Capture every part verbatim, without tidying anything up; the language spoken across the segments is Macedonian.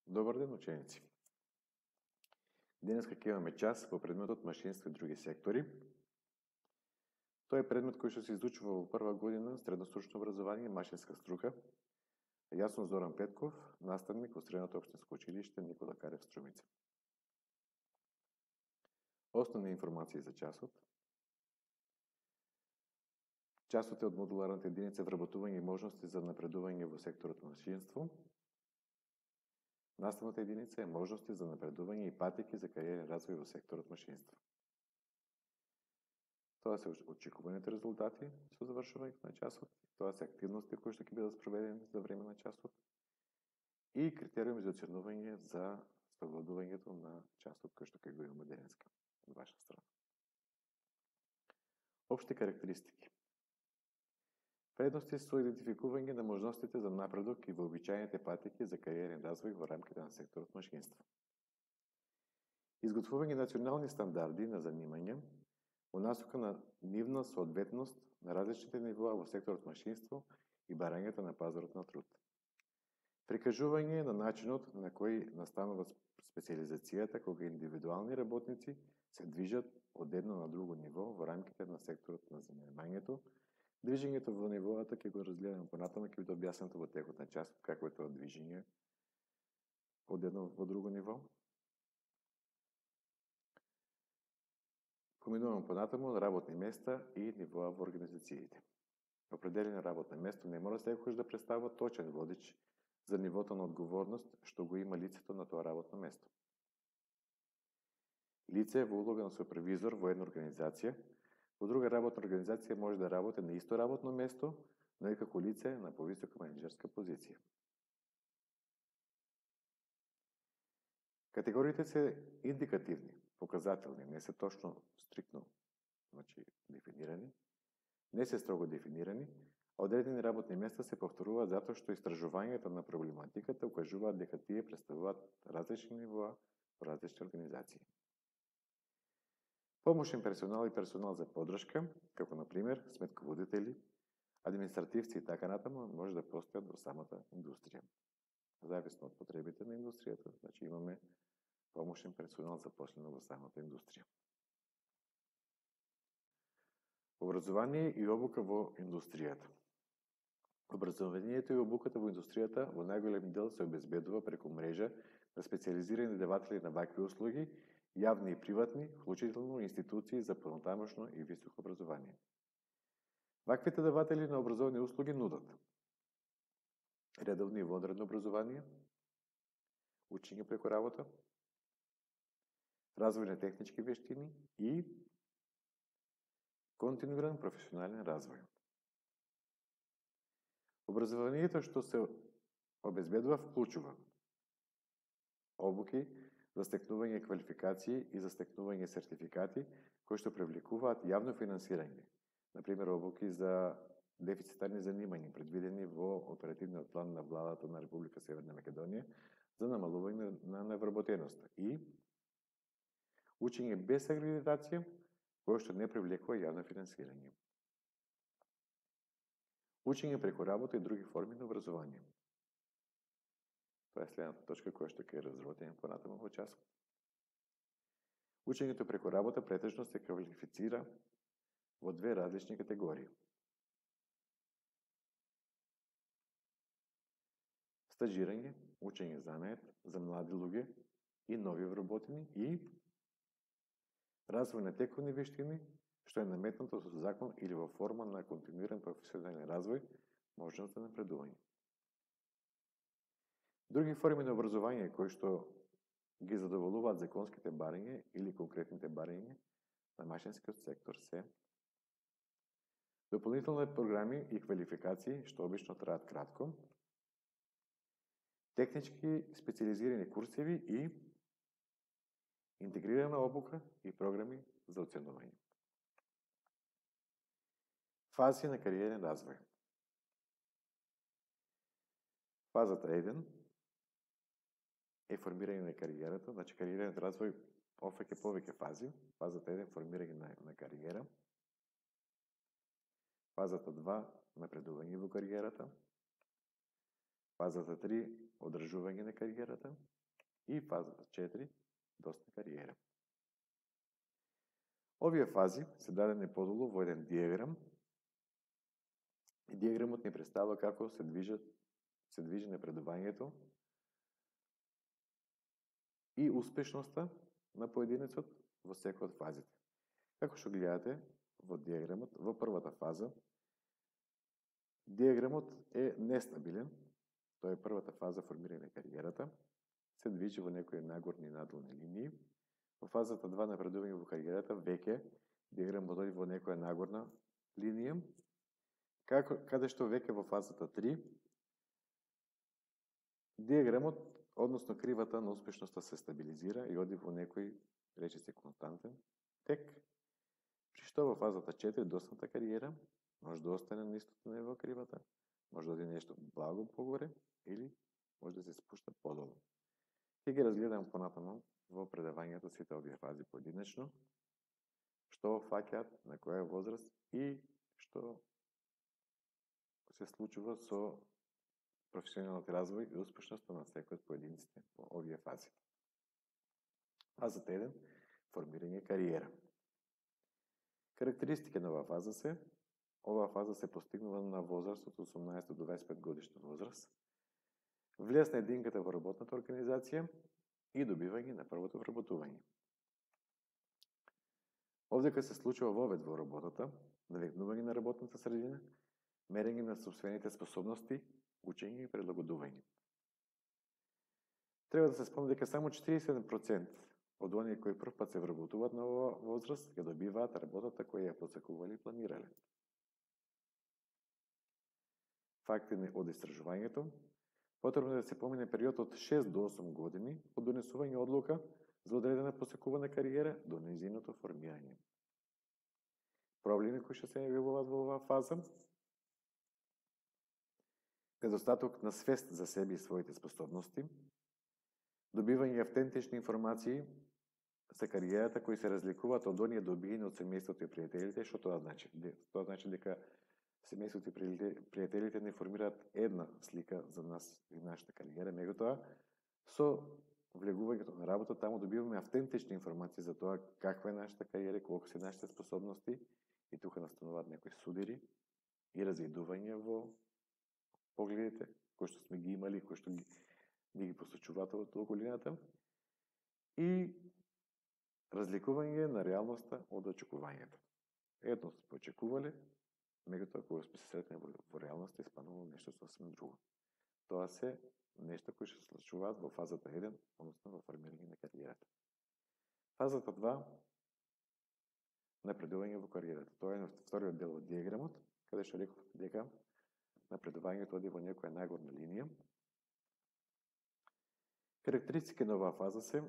Добар ден, ученици! Денеска ќе имаме час по предметот машинство и други сектори. Тоа е предмет кој што се изучува во прва година средностручно образование, машинска струка. Јас сум Зоран Петков, наставник во Средното општинско училиште Никола Карев Струмица. Основни информации за часот. Часот е од модуларната единица вработување и можности за напредување во секторот машинство. Наставната единица е можности за напредување и патеки за кариерен развој во секторот машинство. Тоа се очекуваните резултати со завршувањето на часот, тоа се активности кои што ќе бидат спроведени за време на часот и критериуми за оценување за спроведувањето на часот кој што ќе го имаме денеска од ваша страна. Општи карактеристики. Предности со идентификување на можностите за напредок и вообичаените патеки за кариерен развој во рамките на секторот машинство. Изготвување национални стандарди на занимање во насока на нивна соодветност на различните нивоа во секторот машинство и барањето на пазарот на труд. Прикажување на начинот на кој настанува специализацијата кога индивидуални работници се движат од едно на друго ниво во рамките на секторот на занимањето. Движењето во нивоата ќе го разгледаме понатаму, ќе биде објаснато во текот на часот како е тоа движење од едно во друго ниво. Поминуваме понатаму на работни места и нивоа во организациите. Определено работно место не мора секогаш да представува точен водич за нивото на одговорност што го има лицето на тоа работно место. Лице во улога на супервизор во една организација, во друга работна организација може да работи на исто работно место, но и како лице на повисока менеџерска позиција. Категориите се индикативни, показателни, не се точно стриктно, значи дефинирани, не се строго дефинирани, а одредени работни места се повторуваат затоа што истражувањето на проблематиката укажуваат дека тие представуваат различни нивоа во различни организации. Помошен персонал и персонал за поддршка, како на пример сметководители, административци и така натаму, може да постојат во самата индустрија. Зависно од потребите на индустријата, значи имаме помошен персонал запослено во самата индустрија. Образование и обука во индустријата. Образованието и обуката во индустријата во најголем дел се обезбедува преку мрежа на специјализирани даватели на вакви услуги, јавни и приватни, вклучително институции за понатамошно и високо образование. Ваквите даватели на образовни услуги нудат редовно и вонредно образование, учење преку работа, развој на технички вештини и континуиран професионален развој. Образованието што се обезбедува вклучува обуки за стекнување квалификации и за стекнување сертификати кои што привлекуваат јавно финансирање, например обуки за дефицитарни занимања предвидени во оперативниот план на владата на Република Северна Македонија за намалување на невработеноста и учење без акредитација кое што не привлекува јавно финансирање. Учење преку работа и други форми на образование. Тоа е следната точка која што ќе разработиме понатаму во часот. Учењето преку работа претежно се квалифицира во две различни категории. Стажирање, учење занает за млади луѓе и нови вработени и развој на тековни вештини, што е наметнато со закон или во форма на континуиран професионален развој, можност за напредување. Други форми на образование кои што ги задоволуваат законските барања или конкретните барања на машинскиот сектор се дополнителни програми и квалификации што обично траат кратко, технички специјализирани курсеви и интегрирана обука и програми за оценување. Фази на кариерен развој. Фазата еден е формирање на кариерата, значи кариерен развој офаќа повеќе фази. Фазата еден формирање на, на кариера. Фазата два напредување во кариерата. Фазата три одржување на кариерата и фазата четири, досна кариера. Овие фази се дадени подолу во еден диаграм и диаграмот ни представува како се движат се движи напредувањето и успешноста на поединецот во секој од фазите. Како што гледате во диаграмот, во првата фаза, диаграмот е нестабилен, тоа е првата фаза формирање на кариерата, се движи во некои нагорни и надолни линии. Во фазата два напредување во кариерата, веќе диаграмот оди во некоја нагорна линија, како, каде што веќе во фазата три, диаграмот, односно кривата на успешноста се стабилизира и оди во некој, рече се, константен тек, при што во фазата четири, досната кариера, може да остане на истото ниво кривата, може да оди нешто благо погоре или може да се спушта подолу. Ќе ги разгледам понатаму во предавањето сите овие фази поединечно, што фаќаат, на која возраст и што се случува со професионалниот развој и успешноста на секој од поединците во овие фази. Фазата еден, формирање кариера. Карактеристики на оваа фаза се: оваа фаза се постигнува на возраст од осумнаесет до дваесет и пет годишна возраст, влез на единката во работната организација и добивање на првото вработување. Овдека се случува вовед во работата, навигнување на работната средина, мерење на сопствените способности, учење и прилагодување. Треба да се спомне дека само четириесет и седум проценти од оние кои прв пат се вработуваат на оваа возраст ја добиваат работата која ја посакувале и планирале. Факти од истражувањето: потребно е да се помине период од шест до осум години од донесување одлука за одредена посекувана кариера до нејзиното формирање. Проблеми кои што се јавуваат во оваа фаза: недостаток на свест за себе и своите способности, добивање автентични информации за кариерата кои се разликуваат од оние добиени од семејството и пријателите. Што тоа значи? Тоа значи дека семејството и пријателите не формираат една слика за нас и нашата кариера, меѓутоа со влегувањето на работа таму добиваме автентични информации за тоа каква е нашата кариера, колку се нашите способности, и тука настануваат некои судири и разједување во погледите кои што сме ги имали, кои што ги, ги посочуваат од околината, и разликување на реалноста од очекувањето. Едно сме очекувале, меѓутоа кога сме се сретнали во, во реалноста, испаднало нешто сосем друго. Тоа се нешто кои што се случуваат во фазата еден, односно во формирање на кариерата. Фазата два, напредување во кариерата. Тоа е на вториот дел од диаграмот, каде што реков дека напредувањето оди во некоја нагорна линија. Карактеристики на оваа фаза се: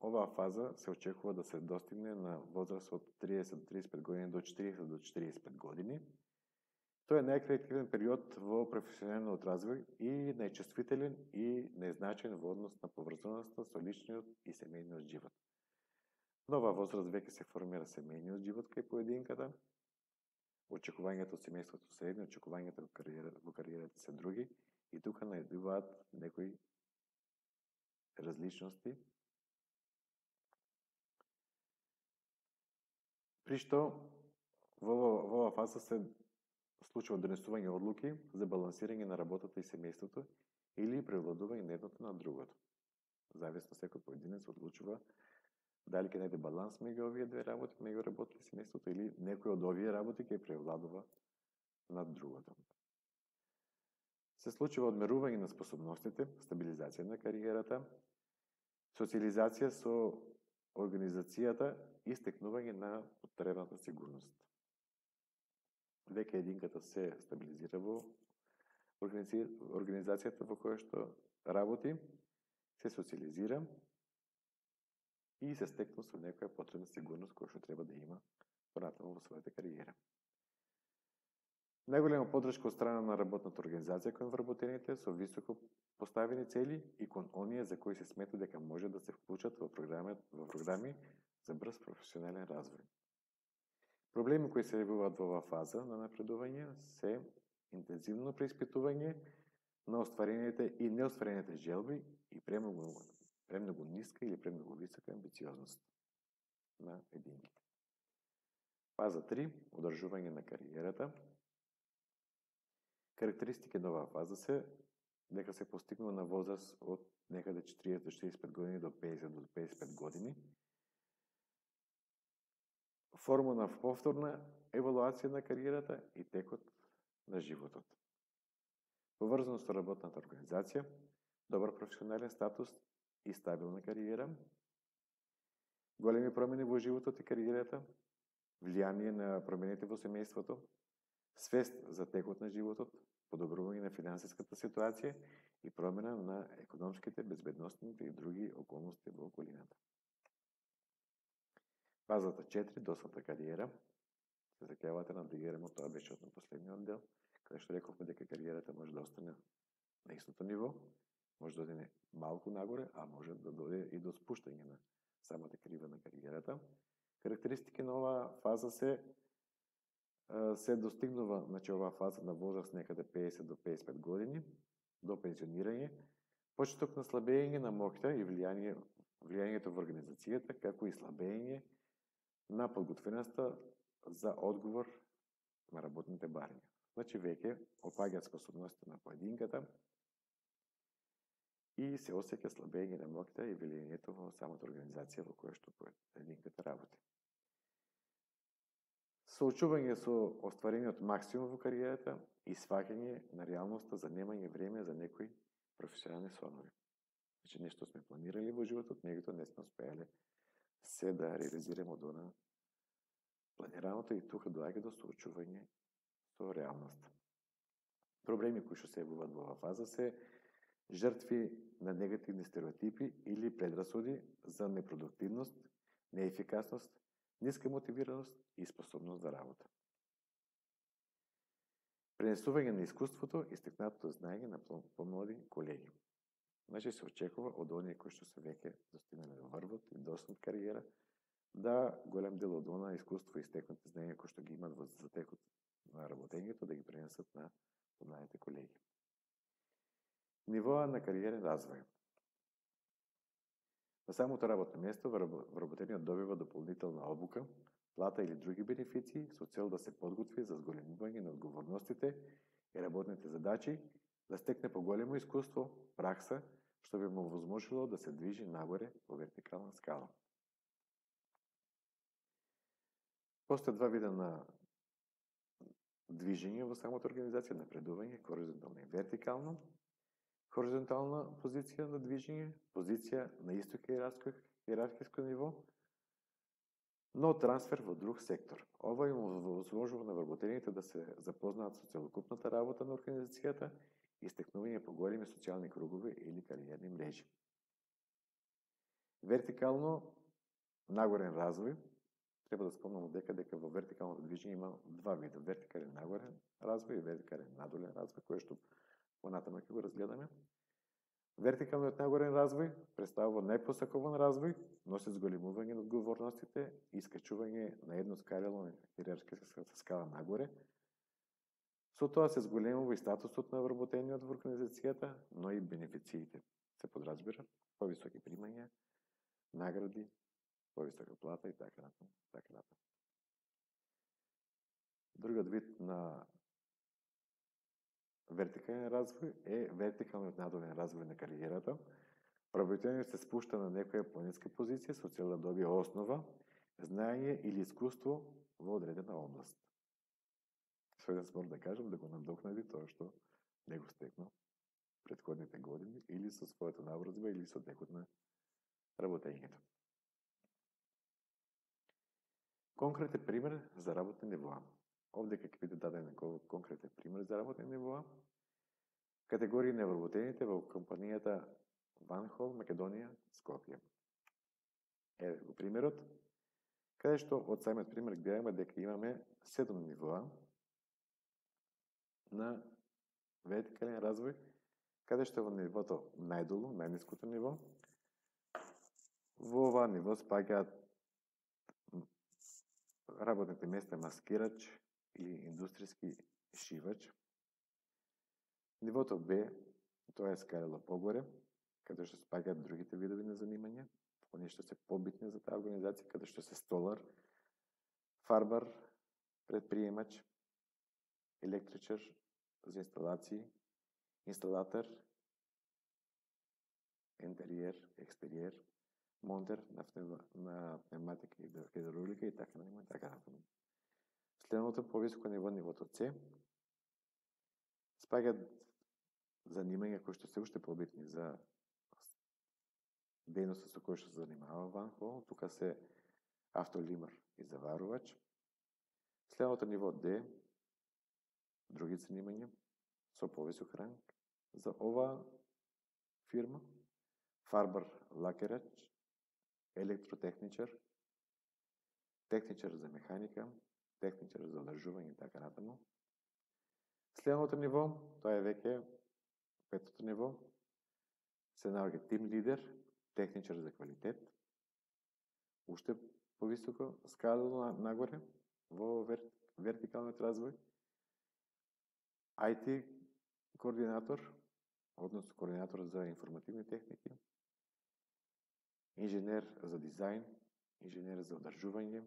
оваа фаза се очекува да се достигне на возраст од триесет до триесет и пет години до четириесет до четириесет и пет години. Тоа е најкреативен период во професионалниот развој и најчувствителен и најзначаен во однос на поврзаноста со личниот и семејниот живот. На оваа возраст веќе се формира семејниот живот кај поединката, очекувањето од семејството се едни, очекувањето во кариерата, во кариерата се други, и тука најдуваат некои различности, при што во оваа фаза се случува донесување одлуки за балансирање на работата и семејството или превладување на едното на другото. Зависно секој поединец одлучува дали ќе најде баланс меѓу овие две работи, меѓу работата и семејството, или некој од овие работи ќе превладува над другото. Се случува одмерување на способностите, стабилизација на кариерата, социализација со организацијата и стекнување на потребната сигурност. Веќе единката се стабилизира во организацијата во која што работи, се социализира и се стекнува со некоја потребна сигурност која што треба да има понатаму во својата кариера. Најголема поддршка од страна на работната организација кон вработените со високо поставени цели и кон оние за кои се смета дека може да се вклучат во програми, во програми за брз професионален развој. Проблеми кои се јавуваат во оваа фаза на напредување се интензивно преиспитување на остварените и неостварените желби и премногу, премногу ниска или премногу висока амбициозност на единиците. Фаза три. Одржување на кариерата. Карактеристики на оваа фаза се дека се постигнува на возраст од некаде четиридесет до шеесет и пет години до педесет до педесет и пет години. Форма на повторна евалуација на кариерата и текот на животот. Поврзано со работната организација, добар професионален статус и стабилна кариера, големи промени во животот и кариерата, влијание на промените во семејството, свест за текот на животот, подобрување на финансиската ситуација и промена на економските, безбедносните и други околности во околината. Фазата четири. Досадна кариера. Се сеќавате на дигеремот, тоа беше од последниот дел, каде што рековме дека кариерата може да остане на истото ниво, може да одине малку нагоре, а може да дојде и до спуштање на самата крива на кариерата. Карактеристики на оваа фаза се се достигнува, значи оваа фаза на возраст некаде педесет до педесет и пет години до пензионирање, почеток на слабење на моќта и влијание влијањето во организацијата, како и слабење на подготвеноста за одговор на работните барања. Значи веќе опаѓаат способностите на поединката и се осеќа слабење на моќта и влијањето во самата организација во која што поединката работи. Соочување со остварениот максимум во кариерата и сваќање на реалноста за немање време за некои професионални сонови. Значи нешто сме планирали во животот, меѓутоа не сме успеале се да реализираме од она планираното и тука доаѓа до соочување со реалноста. Проблеми кои што се јавуваат во оваа фаза се жртви на негативни стереотипи или предрасуди за непродуктивност, неефикасност, ниска мотивираност и способност за работа. Пренесување на искуството и стекнатото знаење на помлади колеги. Значи се очекува од оние кои што се веќе достигнале до врвот и доснат кариера, да голем дел од она искуство и стекнати знаења кои што ги имат во затекот на работењето да ги пренесат на помладите колеги. Нивоа на кариерен развој. На самото работно место вработениот добива дополнителна обука, плата или други бенефиции со цел да се подготви за зголемување на одговорностите и работните задачи, да стекне поголемо искуство, пракса, што би му возможило да се движи нагоре по вертикална скала. Постојат два вида на движење во самата организација, напредување, хоризонтално и вертикално. Хоризонтална позиција на движење, позиција на исто иерархиско ниво, но трансфер во друг сектор. Ова им возможува на вработените да се запознаат со целокупната работа на организацијата и стекнување по големи социјални кругови или кариерни мрежи. Вертикално нагорен развој. Треба да спомнам дека дека во вертикално движење има два вида: вертикален нагорен развој и вертикален надолен развој, кој што понатаму ќе го разгледаме. Вертикалниот нагорен развој представува најпосакован развој, носи зголемување на одговорностите и искачување на едно скалело иерархиска скала нагоре. Со тоа се зголемува и статусот на вработениот во организацијата, но и бенефициите. Се подразбира повисоки примања, награди, повисока плата и така натаму, така натаму. Другиот вид на вертикален развој е вертикалниот надолен развој на кариерата. Вработениот се спушта на некоја пониска позиција со цел да добие основа, знаење или искуство во одредена област. Со еден збор да кажам да го надокнади тоа што не го стекнал претходните години или со својата навродба или со текот на работењето. Конкретен пример за работни нивоа. Овде ќе биде даден конкретен пример за работни нивоа. Категории на вработените во компанијата Ванхол, Македонија, Скопје. Еве го примерот, каде што од самиот пример гледаме дека имаме седум нивоа на вертикален развој, каде што во нивото најдолу, најниското ниво, во ова ниво спаѓаат работните места маскирач или индустријски шивач. Нивото Б Тоа е скалело погоре, каде што спаѓаат другите видови на занимања, оние што се побитни за таа организација, каде што се столар, фарбар, предприемач, електричар за инсталации, инсталатор, интериер, екстериер, монтер на, на пневматика и хидравлика и така натаму, така натаму. Следното повисоко ниво, нивото С, спаѓаат занимања кои што се уште побитни за дејноста со која што се занимава Ван-Хол, тука се автолимар и заварувач. Следното ниво Д, други занимања со повисок ранг за оваа фирма, фарбар, лакерач, електротехничар, техничар за механика, техничар за одржување и така натаму. Следното ниво, тоа е веќе петото ниво, се наоѓа тим лидер, техничар за квалитет, уште повисоко скалено нагоре во вер, вертикалниот развој, ај ти координатор, односно координатор за информативни техники, инженер за дизајн, инженер за одржување,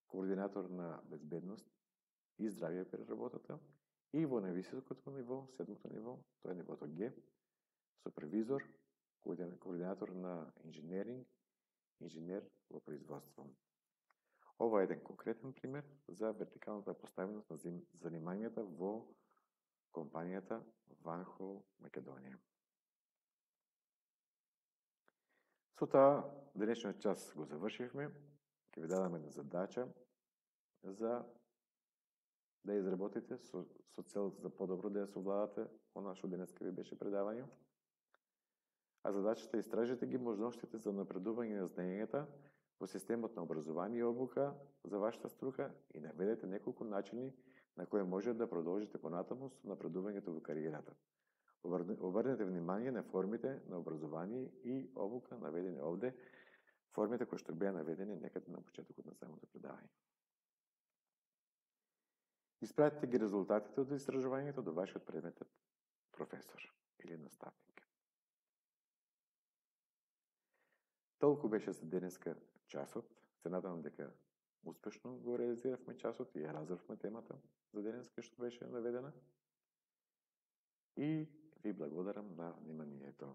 координатор на безбедност и здравје при работата, и во највисокото ниво, седмото ниво, тоа е нивото Г, супервизор, координатор на инженеринг, инженер во производство. Ова е еден конкретен пример за вертикалната поставеност на занимањата во компанијата Ван-Хол Македонија. Со таа, денешниот час го завршивме, ќе ви дадам една задача за да изработите со, со цел за подобро да ја совладате она што денеска ви беше предавање. А задачата е истражете ги можностите за напредување на знаењата во системот на образование и обука за вашата струка и наведете неколку начини на кои може да продолжите понатаму со напредувањето во кариерата. Обрнете внимание на формите на образование и обука наведени овде, формите кои што беа наведени некаде на почетокот на самото предавање. Испратете ги резултатите од истражувањето до вашиот предметен професор или наставник. Толку беше за денеска часот. Се надевам дека успешно го реализиравме часот и ја разрвме темата за денеска што беше наведена. И ви благодарам на вниманието.